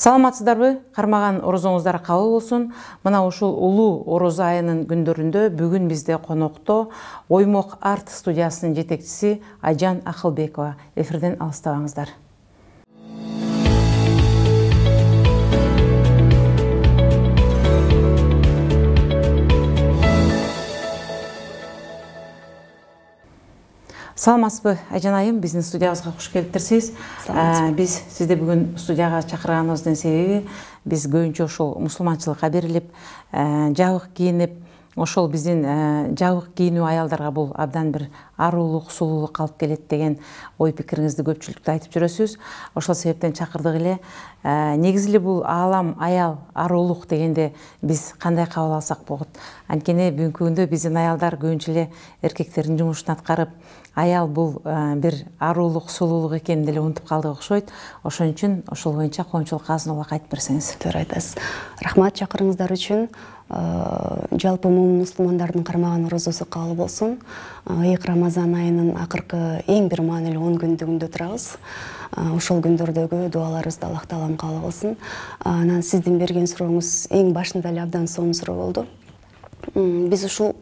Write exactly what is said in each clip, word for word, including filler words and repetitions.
Саламатсыздарбы? Кармаган орозоңуздар кабыл болсун. Мына ушул улуу орозо айынын күндөрүндө бүгүн бизде конокто Оймок арт студиясынын жетекчиси Айжан Акылбекова. Эфирден алыстабаңыздар. Саламатсызбы, Айжан айым, биздин студиябызга куш келиптирсиз. Биз сизди бүгүн студияга чакырганыбыздын себеби биз көбүнчө ошол мусулманчылыкка берилип, жабык кийинип, ошол биздин жабык кийинүү аялдарга бул абдан бир арулук, сулуулук алып келет деген ой пикириңизди көпчүлүктө айтып жүрөсүз. Ошол себептен чакырдык эле. Негизи эле бул аалам аял арулук дегенде биз кандай кабыл алсак болот? Анткени бүгүнкү күндө биздин аялдар көбүнчө эле эркектердин жумушун аткарып, аял бул бир арулук, сулуулук экенин деле унутуп калдык окшойт. Ошон үчүн ошол боюнча коомчулукка азын улак айтып берсеңиз. Туура айтасыз. Рахмат чакырыңыздар үчүн. Жалпы мусулмандардын кармаган орозосу кабыл болсун. Ыйык Рамазан айынын акыркы эң бир маанилүү он күндүгүндө турабыз. Ошол күндөрдөгү дуаларыбызды Аллах таалам кабыл кылсын. Анан сиздин берген сурооңуз эң башында эле абдан сонун суроо болду. Биз ушул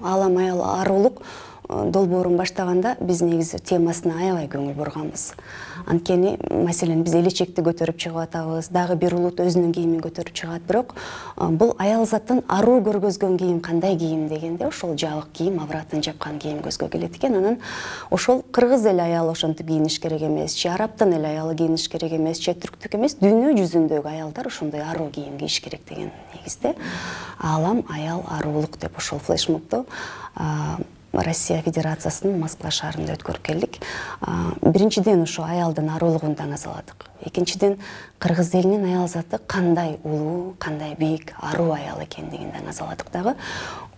аалам аял арулук долбоорун баштаганда биз негизи темасына аябай көңүл бурганбыз. Анткени, маселен, биз элечекти көтөрүп чыгып атабыз, дагы бир улут өзүнүн кийимин көтөрүп чыгат, бирок бул аял затын аруу көргөзгөн кийим кандай кийим дегенде ошол жабык кийим, авратын жапкан кийим көзгө келет экен. Анан ошол кыргыз эл аялы ошентип кийиниш керек эмес, же арабтын эл аялы кийиниш керек эмес, же түрктүк эмес, дүйнө жүзүндөгү аялдар ошондой аруу кийим кийиш керек деген негизде аалам аял арулук деп ошол флешмобду Россия Федерациясынын Москва шаарында өткөрүп келдик. Биринчиден ошо аялдын арулугун таңазаладык. Экинчиден, кыргыз элинин аял заты кандай улуу, кандай бийик, аруу аял экендигин таңазаладык дагы.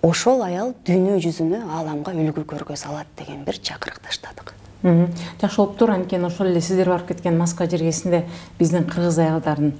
Ошол аял дүйнө жүзүнө, ааламга үлгү көргөзө алат деген бир чакырык таштадык. Жакшы болуптур, анткени ошол эле сиздер барып кеткен Москва жергесинде биздин кыргыз аялдарын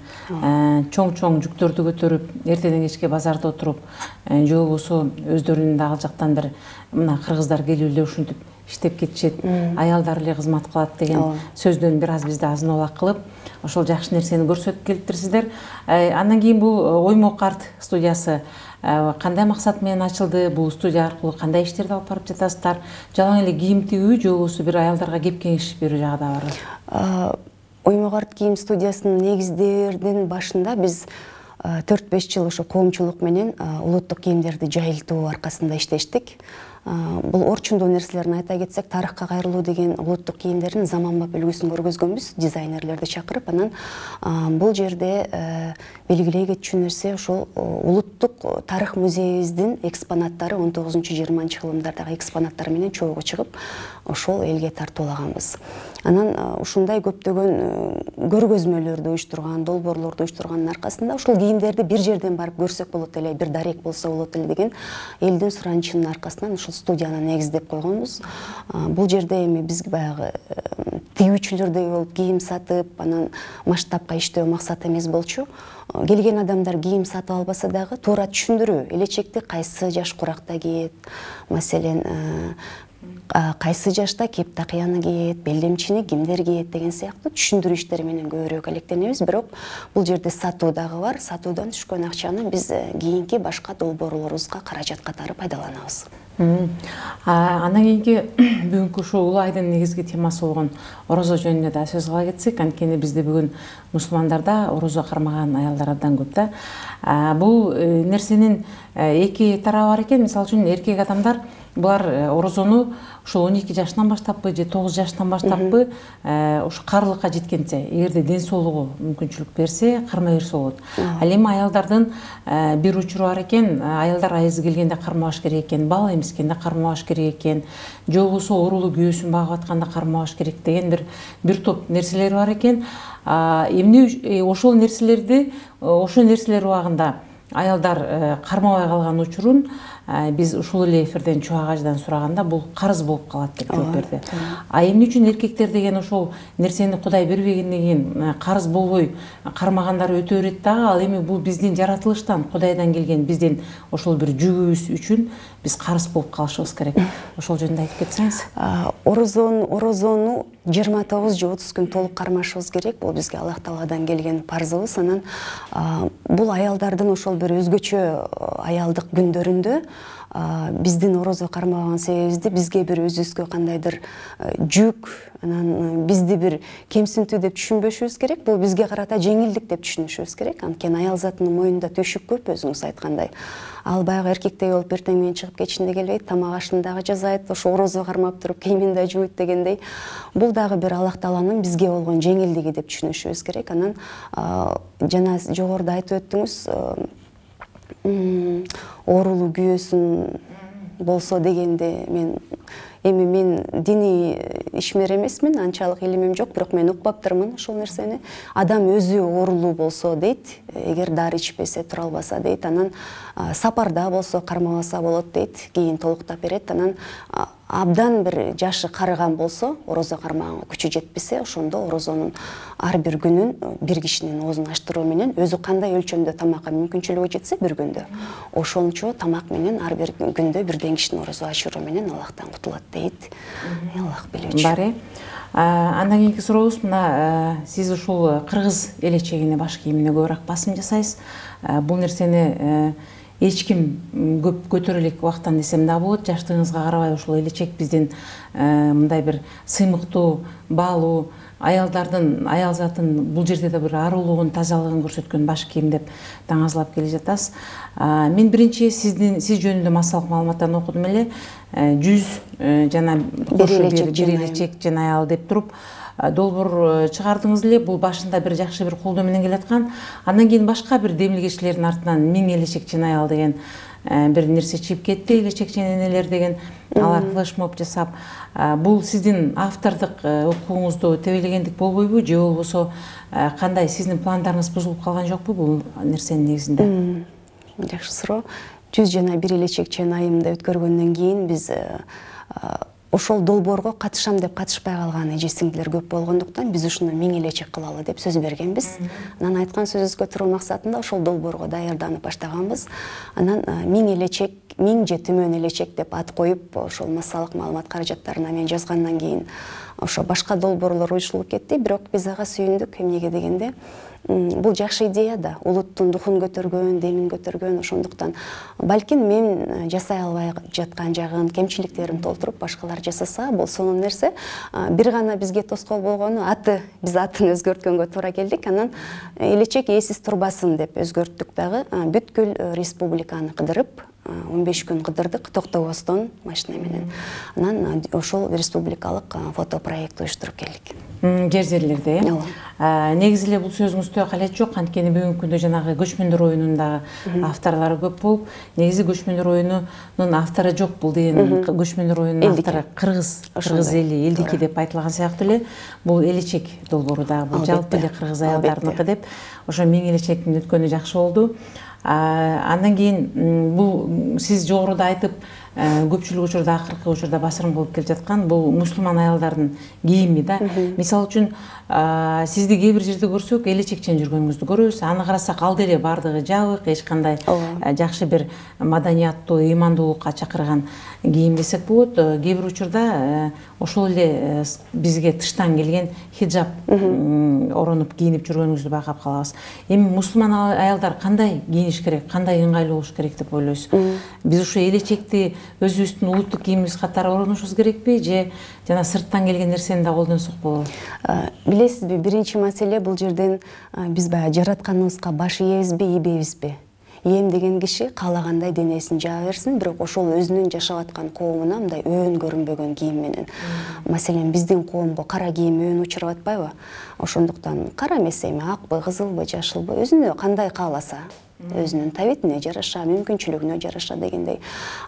чоң-чоң жүктөрдү көтөрүп, эртеден кечке базарда отуруп, же болбосо өздөрүнүн да ал жактан бир мына кыргыздар келип эле ушинтип иштеп кетишет, аялдар эле кызмат кылат деген сөздөн бир аз бизди азын улак кылып, ошол жакшы нерсени көрсөтүп келиптирсиздер. Андан кийин бул Оймок арт студиясы кандай максат менен ачылды? Бул студия аркылуу кандай иштерди алып барып жатасыздар? Жалаң эле кийим тигүү же болбосо бир аялдарга кеп кеңеш берүү жагы да барбы? Оймок арт кийим студиясынын негиздердин башында биз төрт беш жыл ошо коомчулук менен улуттук кийимдерди жайылтуу аркасында иштештик. Бул орчундуу нерселерин айта кетсек, тарыхка кайрылуу деген улуттук кийимдердин заманбап үлгүсүн көргөзгөнбүз, дизайнерлерди чакырып. Анан бул жерде белгилей кетчү нерсе ошол улуттук тарых музейибиздин экспонаттары он тогузунчу жыйырманчы кылымдардагы экспонаттары менен чогуу чыгып, ошол элге тартуулаганбыз. Анан ушундай көптөгөн көргөзмөлөрдү уюштурган, долбоорлорду уюштургандын аркасында ушул кийимдерди бир жерден барып көрсөк болот эле, бир дарек болсо болот эле деген элдин суранычынын аркасынан ушул студияны негиздеп койгонбуз. Бул жерде эми биз баягы тигүүчүлөрдөй болуп кийим сатып, анан масштабка иштөө максат эмес болчу. Келген адамдар кийим сатып албаса дагы туура түшүндүрүү, элечекти кайсы жаш куракта кийет, маселен кайсы жашта кеп такыяны кийет, белдемчини кимдер кийет деген сыяктуу түшүндүрүү иштери менен көбүрөөк алектенебиз. Бирок бул жерде сатуу дагы бар. Сатуудан түшкөн акчаны биз кийинки башка долбоорлорубузга каражат катары пайдаланабыз. Андан кийинки бүгүнкү ушул улуу айдын негизги темасы болгон орозо жөнүндө да сөз кыла кетсек, анткени бизде бүгүн мусулмандарда орозо кармаган аялдар абдан көп да. Бул нерсенин эки тарабы бар экен. Мисалы үчүн эркек адамдар булар орозону ушул он эки жаштан баштаппы же тогуз жаштан баштаппы ушу карылыкка жеткенче, эгерде ден соолугу мүмкүнчүлүк берсе, кармай берсе болот. Ал эми аялдардын бир учуру бар экен, аялдар айызы келгенде кармабаш керек экен, бала эмискенде кармабаш керек экен, же болбосо оорулуу күйөөсүн багып атканда кармабаш керек деген бир бир топ нерселер бар экен. Эмне ошол нерселерди, ошол нерселер убагында аялдар кармабай калган учурун биз ушул эле эфирден Чубак ажыдан сураганда бул карыз болуп калат деп жооп берди. А эмне үчүн эркектер деген ошол нерсени Кудай бербегенден кийин карыз болбой кармагандары өтө берет дагы. Ал эми бул биздин жаратылыштан, Кудайдан келген биздин ошол бир жүгүбүз үчүн биз карыз болуп калышыбыз керек. Ошол жөнүндө айтып кетсеңиз. Орозон, орозону жыйырма тогуз же отуз күн толук кармашыбыз керек. Бул бизге Аллах Тааладан келген парзыбыз. Анан бул аялдардын ошол бир өзгөчө аялдык күндөрүндө биздин орозо кармаган себебибизди бизге бир өзүбүзгө кандайдыр жүк, анан бизди бир кемсинтүү деп түшүнбөшүбүз керек. Бул бизге карата жеңилдик деп түшүнүшүбүз керек. Анткени аял затынын моюнда төшүк көп, өзүңүз айткандай. Ал баягы эркектей болуп эртең менен чыгып кетишине келбейт, тамак ашын дагы жасайт, ошо орозо кармап туруп кийимин да жууйт дегендей. Бул дагы бир Аллах Тааланын бизге болгон жеңилдиги деп түшүнүшүбүз керек. Анан жана жогоруда айтып өттүңүз, оорулуу күйөөсүн болсо дегенде, мен эми мен диний ишмер эмесмин, анчалык илимим жок, бирок мен укпаптырмын ошол нерсени. Адам өзү оорулуу болсо дейт, эгер дары ичпесе, тура албаса дейт, анан сапарда болсо кармабаса болот дейт, кийин толуктап берет. Анан абдан бир жашы карыган болсо, орозо кармаганга күчү жетпесе, ошондо орозонун ар бир күнүн бир кишинин оозун ачтыруу менен өзү кандай өлчөмдө тамакка мүмкүнчүлүгү жетсе бир күндө, ошончо тамак менен ар бир күндө бирден кишинин орозо ачыруу менен Аллахтан кутулат дейт. Аллах билүүчү. Бар. Андан кийинки сурообуз мына, сиз ушул кыргыз элечегине, баш кийимине көбүрөөк басым жасайсыз. Бул нерсени эч ким көп көтөрө элек убактан десем да болот. Жаштыгыңызга карабай ушул элечек биздин мындай бир сыймыктуу, баалуу, аялдардын, аял затын бул жерде да бир арулугун, тазалыгын көрсөткөн баш кийим деп таңазлап келе жатасыз. Мен биринчи сиздин сиз жөнүндө массалык маалыматтарды окудум эле. жүз жана бир элечек жана аял деп туруп долбоор чыгардыңыз эле. Бул башында бир жакшы бир колдоо менен келаткан. Андан кийин башка бир демилгечилердин артынан миң элечек жана аял деген бир нерсе чыгып кетти. Элечек жана энелер деген, алар флешмоб жасап. Бул сиздин автордук укугуңузду тебелегендик болбойбу же болбосо кандай, сиздин пландарыңыз бузулуп калган жокпу бул нерсенин негизинде? Жакшы суроо. жүз жана бир элечек жана айымды өткөргөндөн кийин биз ошол долбоорго катышам деп катышпай калган эже сиңдилер көп болгондуктан биз ушуну миң элечек кылалы деп сөз бергенбиз. Анан айткан сөзүбүзгө туруу максатында ошол долбоорго даярданып баштаганбыз. Анан миң элечек, миң же түмөн элечек деп ат коюп, ошол массалык маалымат каражаттарына мен жазгандан кийин ошо башка долбоорлор уюшулуп кетти. Бирок биз ага сүйүндүк. Эмнеге дегенде, бул жакшы идея да, улуттун духун көтөргөн, демин көтөргөн, ошондуктан балким мен жасай албай жаткан жагын, кемчиликтерин толтуруп башкалар жасаса, бул сонун нерсе. Бир гана бизге тоскоол болгону аты, биз атын өзгөрткөнгө туура келдик. Анан элечек ээсиз турбасын деп өзгөрттүк дагы. Бүткүл республиканы кыдырып, он беш күн кыдырдык токтобостон машина менен. Анан ошол республикалык фотопроект уюштуруп келдик. Жер жерлерде. Негизи эле бул сөзүңүздө калет жок, анткени бүгүнкү күндө жанагы көчмөндөр оюнунун дагы авторлору көп болуп, негизи көчмөндөр оюнунун автору жок. Бул деген көчмөндөр оюнунун автору кыргыз, кыргыз эли, элдики деп айтылган сыяктуу эле. Бул элечек долбоору дагы бул жалпы эле кыргыз аялдарыныкы деп. Ошо миң элечектин өткөнү жакшы болду. Андан кийин бул сиз жогоруда айтып, көпчүлүк учурда, акыркы учурда басырым болуп келе жаткан бул мусулман аялдардын кийими да. Мисалы үчүн сизди кээ бир жерде көрсөк, элечекчен жүргөнүңүздү көрөбүз. Аны карасак ал деле бардыгы жабык, эч кандай жакшы бир маданияттуу, ыймандуулукка чакырган кийим десек болот. Кээ бир учурда ошол эле бизге тыштан келген хиджаб оронуп кийинип жүргөнүңүздү байкап калабыз. Эми мусулман аялдар кандай кийиниш керек, кандай ыңгайлуу болуш керек деп ойлойсуз? Биз ушу элечекти өзүбүздүн улуттук кийимибиз катары оронушубуз керекпи же жана сырттан келген нерсени да колдонсок болобу? Билесизби, биринчи маселе бул жерден биз баягы жаратканыбызга баш ийебизби, ийбейбизби? Ийем деген киши каалагандай денесин жаа берсин, бирок ошол өзүнүн жашап аткан коомуна мындай өөн көрүнбөгөн кийим менен. Маселен, биздин коомго кара кийим өөн учурап атпайбы? Ошондуктан кара эмес эми акпы, кызылбы, жашылбы, өзүнө кандай кааласа өзүнүн табитине жараша, мүмкүнчүлүгүнө жараша дегендей.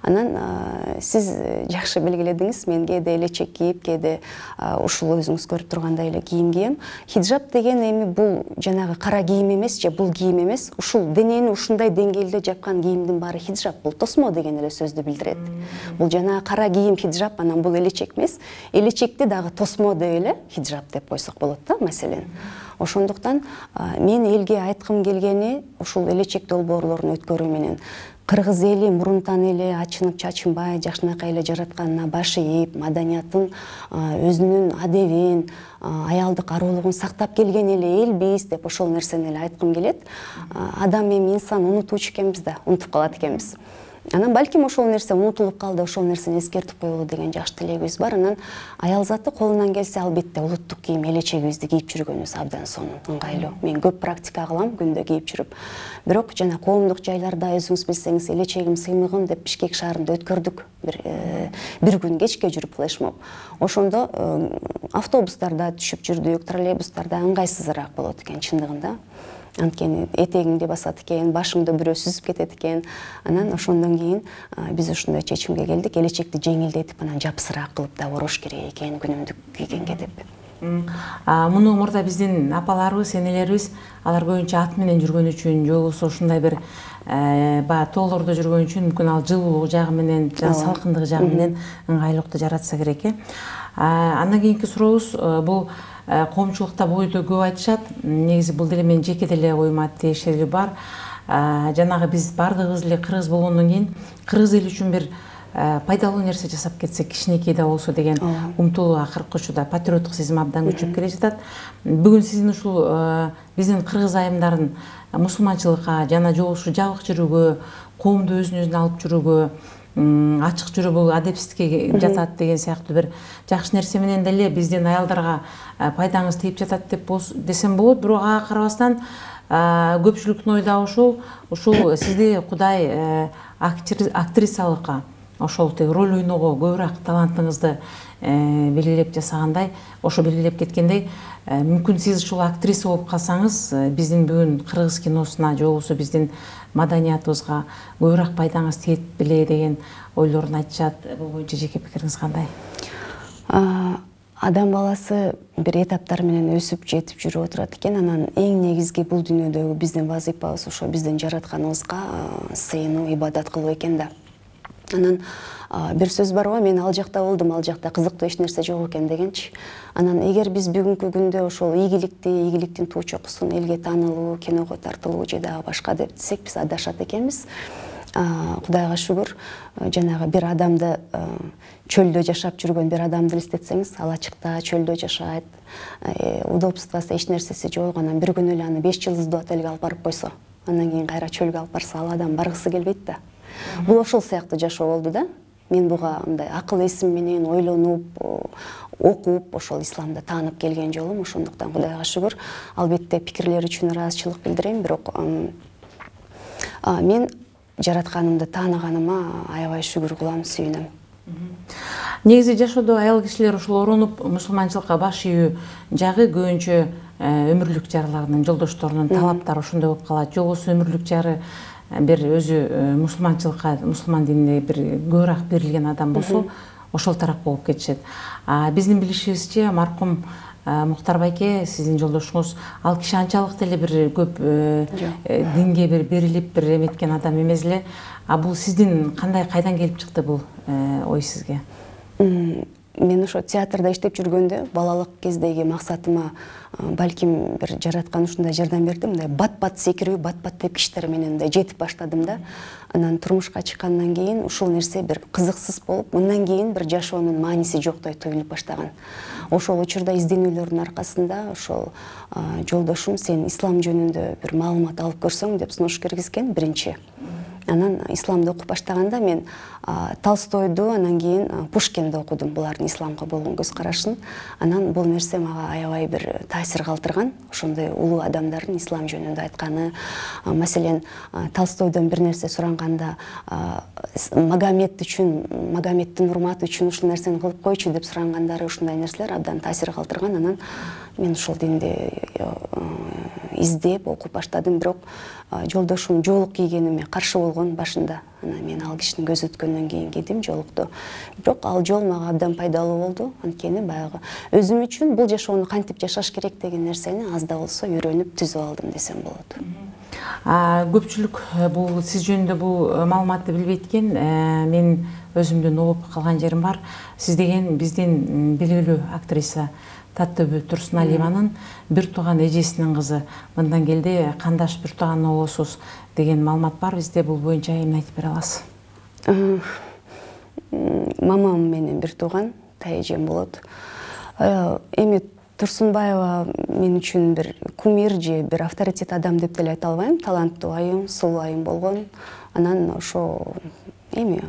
Анан сиз жакшы белгиледиңиз, мен кээде элечек кийип, кээде ушул өзүңүз көрүп тургандай эле кийим кийем. Хиджаб деген эми бул жанагы кара кийим эмес же бул кийим эмес. Ушул денени ушундай деңгээлде жапкан кийимдин баары хиджаб. Бул тосмо деген эле сөздү билдирет. Бул жанагы кара кийим хиджаб, анан бул элечек эмес. Элечекти дагы тосмо деп эле хиджаб деп койсок болот да, маселен. Ошондуктан мен элге айткым келгени ушул элечек долбоорлорун өткөрүү менен кыргыз эли мурунтан эле ачынып чачынбай жакшынакай эле жаратканына баш ийип, маданиятын, өзүнүн адебин, аялдык арулугун сактап келген эле элбиз деп ошол нерсени эле айткым келет. Адам эми инсан унутуучу экенбиз да, унутуп калат экенбиз. Анан балким ошол нерсе унутулуп калды, ошол нерсени эскертип коелу деген жакшы тилегибиз бар. Анан аял заты колунан келсе албетте улуттук кийим элечегибизди кийип жүргөнүбүз абдан сонун, ыңгайлуу. Мен көп практика кылам күндө кийип жүрүп. Бирок жана коомдук жайларда өзүңүз билсеңиз, элечегим, сыймыгым деп Бишкек шаарында өткөрдүк. Бир бир күн кечке жүрүп флешмоб. Ошондо автобустарда түшүп жүрдүк, троллейбустарда ыңгайсызыраак болот экен чындыгында. Анткени этегиңди басат экен, башыңды бирөө сүзүп кетет экен. Анан ошондон кийин биз ушундай чечимге келдик, элечекти жеңилдетип, анан жапсыраак кылып да орош керек экен күнүмдүк кийгенге деп. Муну мурда биздин апаларыбыз, энелерибиз алар көбүнчө ат менен жүргөн үчүн, же болбосо ушундай бир баягы тоолордо жүргөн үчүн мүмкүн ал жылуулук жагы менен, жана салкындык жагы менен ыңгайлуулукту жаратса керек э. Андан кийинки сурообуз бул коомчулукта бойдо көп айтышат. Негизи бул деле менин жеке деле оюма тиешелүү бар. Жанагы биз бардыгыбыз эле кыргыз болгондон кийин кыргыз эли үчүн бир пайдалуу нерсе жасап кетсек, кичинекей да болсо деген умтулуу акыркы учурда патриоттук сезим абдан күчөп келе жатат. Бүгүн сиздин ушул биздин кыргыз айымдарын мусулманчылыкка жана же болбосо жабык жүрүүгө, коомду өзүнүн алып жүрүүгө, ачык жүрүү бул адепсиздикке жатат деген сыяктуу бир жакшы нерсе менен деле биздин аялдарга пайдаңыз тийип жатат деп десем болот. Бирок ага карабастан көпчүлүктүн ою дагы ушул, ушул сизди Кудай актрисалыкка, ошол тег роль ойноого көбүрөөк талантыңызды белгилеп жасагандай, ошо белгилеп кеткендей, мүмкүн сиз ушул актриса болуп калсаңыз, биздин бүгүн кыргыз киносуна же болбосо биздин маданиятыбызга көбүрөөк пайдаңыз тиет беле деген ойлорун айтышат. Бул боюнча жеке пикириңиз кандай? Адам баласы бир этаптар менен өсүп жетип жүрүп отурат экен. Анан эң негизги бул дүйнөдөгү биздин вазыйпабыз ошо биздин жаратканыбызга сыйынуу, ибадат кылуу экен да. Анан бир сөз бар го, мен ал жакта болдум, ал жакта кызыктуу эч нерсе жок экен дегенчи. Анан эгер биз бүгүнкү күндө ошол игиликти, игиликтин туу чокусун элге таанылуу, киного тартылуу же дагы башка деп десек, биз адашат экенбиз. Кудайга шүгүр, жанагы бир адамды, чөлдө жашап жүргөн бир адамды элестетсеңиз, ал ачыкта чөлдө жашайт, удобствосы эч нерсеси жок, анан бир күнү эле аны беш жылдыздуу отелге алып барып койсо, андан кийин кайра чөлгө алып барса, ал адам баргысы келбейт да. Бул ошол сыяктуу жашоо болду да. Мен буга мындай акыл эсим менен ойлонуп, окуп, ошол исламды таанып келген жолум. Ошондуктан Кудайга шүгүр, албетте пикирлер үчүн ыраазычылык билдирем, бирок мен жаратканымды тааныганыма аябай шүгүр кылам, сүйүнөм. Негизи жашоодо аял кишилер ушул оронуп мусулманчылыкка баш ийүү жагы көбүнчө өмүрлүк жарларынын, жолдошторунун талаптары ошондой болуп калат. Же болбосо өмүрлүк жары бир өзү мусулманчылыкка, мусулман динине бир көбүрөөк берилген адам болсо, ошол тарапка болуп кетишет. Биздин билишибизче, маркум Мухтар байке, сиздин жолдошуңуз, ал киши анчалык деле бир көп динге бир берилип, бир эметкен адам эмес эле. А бул сиздин кандай, кайдан келип чыкты бул ой сизге? Мен ошо театрда иштеп жүргөндө балалык кездеги максатыма балким бир жараткан ушундай жардам берди. Мындай бат-бат секирүү, бат-бат тепкичтер менен да жетип баштадым да. Анан турмушка чыккандан кийин ушул нерсе бир кызыксыз болуп, мындан кийин бир жашоонун мааниси жоктой туюлуп баштаган. Ошол учурда изденүүлөрдүн аркасында ошол жолдошум, сен ислам жөнүндө бир маалымат алып көрсөң деп сунуш киргизген биринчи. Анан исламды окуп баштаганда мен Толстойду, анан кийин Пушкинди окудум, булардын исламга болгон көз карашын. Анан бул нерсе мага аябай бир таасир калтырган. Ошондой улуу адамдардын ислам жөнүндө айтканы, маселен, Толстойдон бир нерсе суранганда, Магомед үчүн, Магомеддин урматы үчүн ушул нерсени кылып койчу деп сурангандары, ушундай нерселер абдан таасир калтырган. Анан мен ушул динди издеп окуп баштадым, бирок жолдошум жоолук кийгениме каршы болгон башында. Анан мен ал кишинин көзү өткөндөн кийин кийдим жоолукту. Бирок ал жол мага абдан пайдалуу болду. Анткени баягы өзүм үчүн бул жашоону кантип жашаш керек деген нерсени аз да болсо үйрөнүп түзүп алдым десем болот. Көпчүлүк бул сиз жөнүндө бул маалыматты билбейт экен. Мен өзүмдүн угуп калган жерим бар. Сиз деген биздин белгилүү актриса Таттөбү Турсуналиеванын бир тууган эжесинин кызы. Мындан келди кандаш бир тууган болосуз деген маалымат бар бизде. Бул боюнча эмне айтып бере аласыз? Мамам менен бир тууган, тайэжем болот. Эми Турсунбаева мен үчүн бир кумир же бир авторитет адам деп деле айта албайм. Таланттуу айым, сулуу айым болгон. Анан ошо эми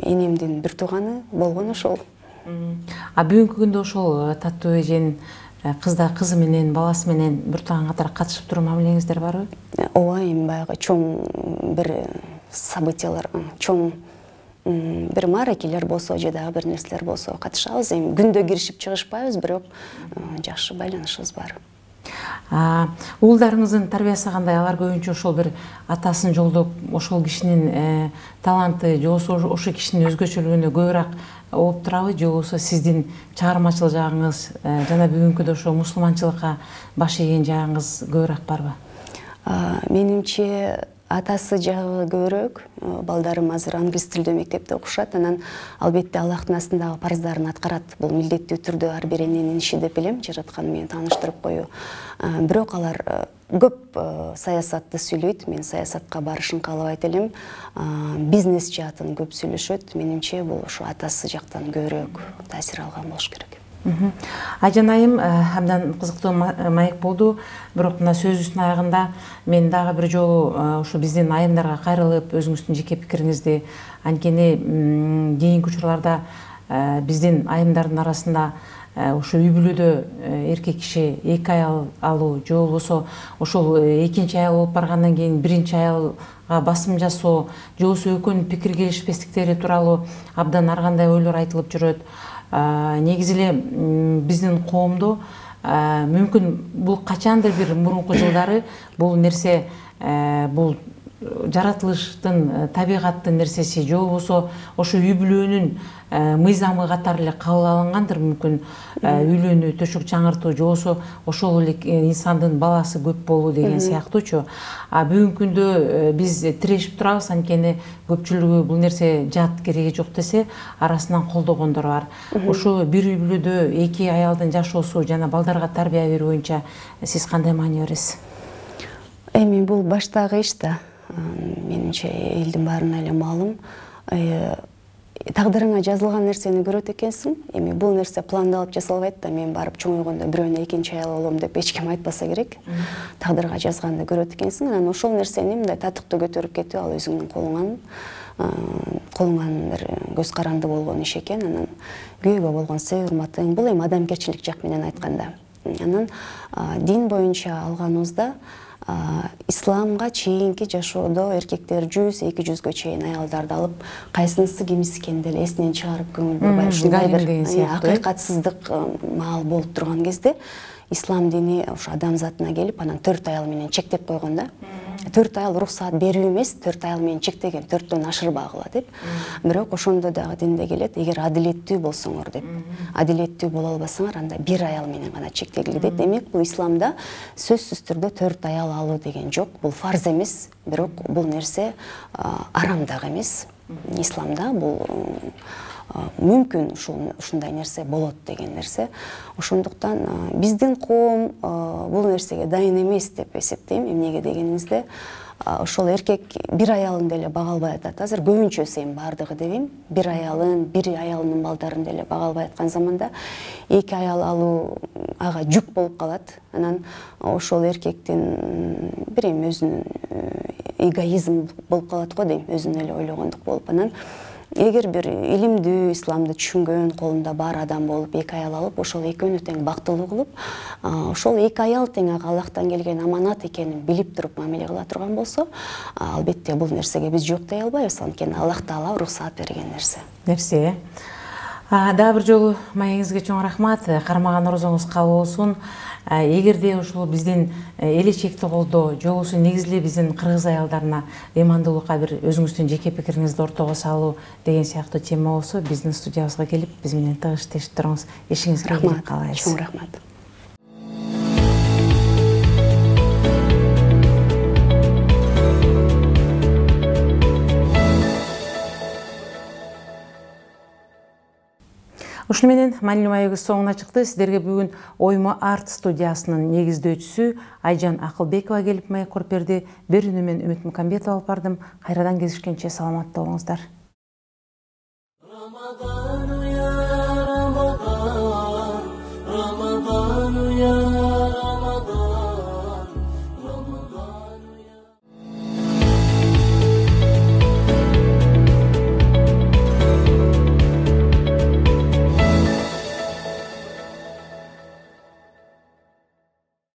энемдин бир тууганы болгон ошол. А бүгүнкү күндө ошол Таттуу эженин кызда кызы менен, баласы менен бир тууган катары катышып туруу мамилеңиздер барбы? Ооба, эми баягы чоң бир событиялар, чоң бир мааракелер болсо же дагы бир нерселер болсо катышабыз. Эми күндө киришип чыгышпайбыз, бирок жакшы байланышыбыз бар. Уулдарыңыздын тарбиясы кандай? Алар көбүнчө ошол бир атасын жолдоп, ошол кишинин таланты же ошол кишинин өзгөчөлүгүнө көбүрөөк оп турабы, же болбосо сиздин чыгармачыл жагыңыз жана бүгүнкү ошо мусулманчылыкка баш ийген жагыңыз көбүрөөк барбы? Менимче атасы жагы көбүрөөк. Балдарым азыр англис тилдүү мектепте окушат. Анан албетте Аллахтын астындагы парыздарын аткарат. Бул милдеттүү түрдө ар бир эненин иши деп билем, жараткан менен тааныштырып коюу. Бирок алар көп саясатты сүйлөйт. Мен саясатка барышын каалабайт элем. Бизнес жаатын көп сүйлөшөт. Менимче бул ошо атасы жактан көбүрөөк таасир алган болуш керек. Айжан айым абдан кызыктуу маек болду. Бирок мына сөзүбүздүн аягында мен дагы бир жолу ошо биздин айымдарга кайрылып, өзүңүздүн жеке пикириңизди, анткени кийинки учурларда биздин айымдардын арасында ошо үй бүлөдө эркек киши эки аял алуу же болбосо ошол экинчи аял болуп баргандан кийин биринчи аялга басым жасоо же болбосо экөөнүн пикир келишпестиктери тууралуу абдан ар кандай ойлор айтылып жүрөт. Негизи эле биздин коомдо мүмкүн бул качандыр бир мурунку жылдары бул нерсе бул жаратылыштын, табигаттын нерсеси же болбосо ошо үй бүлөнүн мыйзамы катары эле кабыл алынгандыр. Мүмкүн үйлөнүү, төшөк чаңыртуу же болбосо ошол эле инсандын баласы көп болуу деген сыяктуучу. А бүгүнкү күндө биз тирешип турабыз, анткени көпчүлүгү бул нерсе жат, кереги жок десе, арасынан колдогондор бар. Ошо бир үй бүлөдө эки аялдын жашоосу жана балдарга тарбия берүү боюнча сиз кандай маани бересиз? Эми бул баштагы иш да. Менимче элдин баарына эле маалым. Тагдырыңа жазылган нерсени көрөт экенсиң. Эми бул нерсе пландалып жасалбайт да, мен барып чоңойгондо бирөөнө экинчи аял болом деп эч ким айтпаса керек. Тагдырга жазганды көрөт экенсиң. Анан ошол нерсени мындай татыктуу көтөрүп кетүү ал өзүңдүн колуңан, колуңан бир көз каранды болгон иш экен. Анан күйөөгө болгон сый урматың, бул эми адамгерчилик жак менен айтканда. Анан дин боюнча алганыбызда исламга чейинки жашоодо эркектер жүз эки жүзгө чейин аялдарды алып, кайсынысы кимиси экенин деле эсинен чыгарып көңүл бурбай, ушундай бир акыйкатсыздык маал болуп турган кезде ислам дини ошо адам затына келип, анан төрт аял менен чектеп койгон да. Төрт аял уруксаат берүү эмес, төрт аял менен чектеген, төрттөн ашырбагыла деп. Бирок ошондо дагы динде келет, эгер адилеттүү болсоңор деп. Адилеттүү боло албасаңар, анда бир аял менен гана чектелгиле дейт. Демек, бул исламда сөзсүз түрдө төрт аял алуу деген жок. Бул фарз эмес, бирок бул нерсе арам дагы эмес. Исламда бул мүмкүн ушундай нерсе болот деген нерсе. Ошондуктан биздин коом бул нерсеге дайын эмес деп эсептейм. Эмнеге дегениңизде, ошол эркек бир аялын деле бага албай атат. Азыр көбүнчөсү эми бардыгы дебейм, бир аялын, бир аялынын балдарын деле бага албай аткан заманда эки аял алуу ага жүк болуп калат. Анан ошол эркектин бир эми өзүнүн эгоизм болуп калат го дейм, өзүн эле ойлогондук болуп. Анан эгер бир илимдүү, исламды түшүнгөн, колунда бар адам болуп, эки аял алып, ошол экөөнү тең бактылуу кылып, ошол эки аял тең ага Аллахтан келген аманат экенин билип туруп мамиле кыла турган болсо, албетте бул нерсеге биз жок дей албайбыз, анткени Аллах Таала уруксаат берген нерсе. Нерсе. Дагы бир жолу маегиңизге чоң рахмат. Кармаган орозоңуз кабыл болсун. Эгерде ушул биздин эли чекти колдоо жолусу негизли биздин кыргыз аялдарына ыймандуулукка бир өзүңүздүн жеке пикириңизди ортого салуу деген сыяктуу тема болсо, биздин студиябызга келип, биз менен тыгыз иштешип туруңуз. Ишиңизге ийгилик каалайбыз. Чоң рахмат. Ушуну менен маанилүү маегибиз соңуна чыкты. Сиздерге бүгүн Оймо арт студиясынын негиздөөчүсү Айжан Акылбекова келип маек коруп берди. Берүүнү мен Үмүт Мукамбетова алып бардым. Кайрадан кезишкенче саламатта болуңуздар.